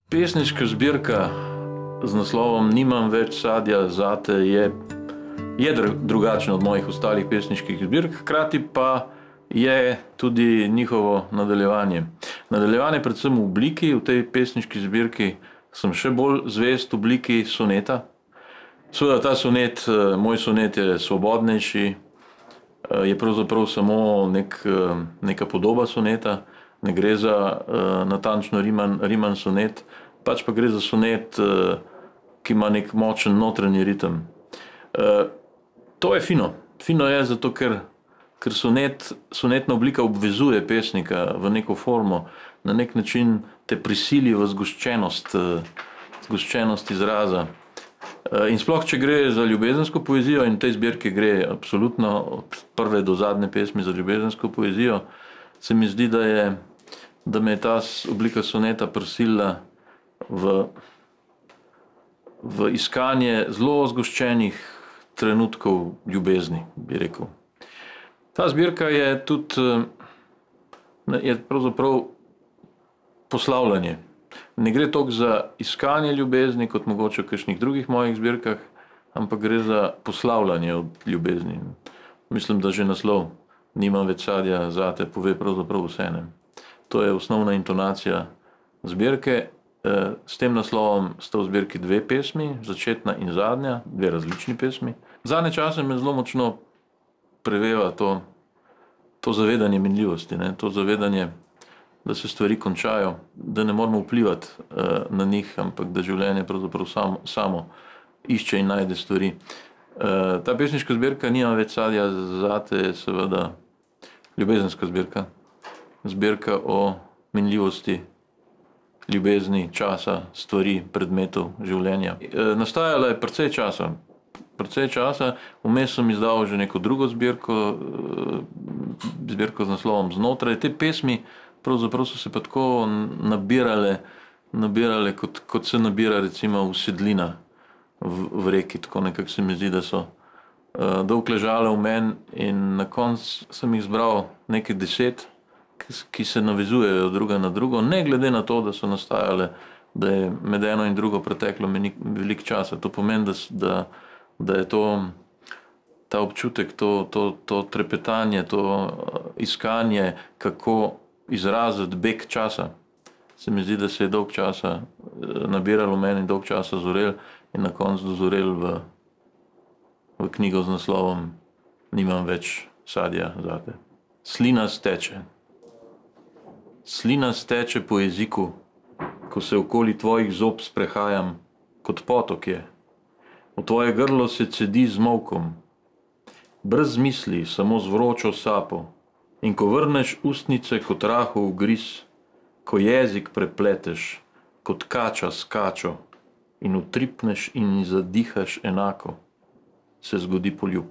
Pesniška zbirka z naslovom Nimam več sadja zate je drugačna od mojih ostalih pesniških zbirk, hkrati pa je tudi njihovo nadaljevanje. Nadaljevanje predvsem v obliki, v tej pesniški zbirki sem še bolj zvest v obliki soneta. Seveda ta sonet, moj sonet je svobodnejši, je pravzaprav samo neka podoba soneta, ne gre za natančno riman sonet, pač pa gre za sonet, ki ima nek močen notranji ritem. To je fino. Fino je zato, ker sonetna oblika obvezuje pesnika v neko formo, na nek način te prisili v zgoščenost izraza. In sploh, če gre za ljubezensko poezijo, in v tej zbirki gre absolutno od prve do zadnje pesmi za ljubezensko poezijo, se mi zdi, da me je ta oblika soneta prisilila v iskanje zelo zgoščenih trenutkov ljubezni, bi rekel. Ta zbirka je tudi pravzaprav poslavljanje. Ne gre toliko za iskanje ljubezni, kot mogoče v kakšnih drugih mojih zbirkah, ampak gre za poslavljanje od ljubezni. Mislim, da že naslov Nimam več sadja zate pove pravzaprav vse. To je osnovna intonacija zbirke. S tem naslovom sta v zbirki dve pesmi, začetna in zadnja, dve različni pesmi. Zadnje čase me zelo močno preveva to zavedanje minljivosti, to zavedanje, da se stvari končajo, da ne moramo vplivati na njih, ampak da življenje pravzaprav samo išče in najde stvari. Ta pesniška zbirka Nimam več sadja zate je seveda ljubezenska zbirka. Zbirka o minljivosti, ljubezni, časa, stvari, predmetov, življenja. Nastajala je precej časa, vmes sem izdal že neko drugo zbirko z naslovom Znotraj. Te pesmi pravzaprav so se pa tako nabirale, kot se nabira recimo usedlina v reki, tako nekako se mi zdi, da so dolgo ležale v meni in na koncu sem jih zbral nekaj 10, ki se navezujejo druga na drugo, ne glede na to, da so nastajale, da je med eno in drugo preteklo veliko časa. To pomeni, da je ta občutek, to trepetanje, to iskanje, kako izraziti beg časa. Se mi zdi, da se je dolgo časa nabiralo v meni, dolgo časa zorel in na koncu dozorel v knjigo z naslovom Nimam več sadja zate. Slina steče. Slina steče po jeziku, ko se okoli tvojih zob sprehajam, kot potok je. V tvoje grlo se cedi z molkom, brez misli, samo z vročo sapo. In ko vrneš ustnice kot rahov ugriz, ko jezik prepleteš, kot kača s kačo, in utripneš in zadihaš enako, se zgodi poljub.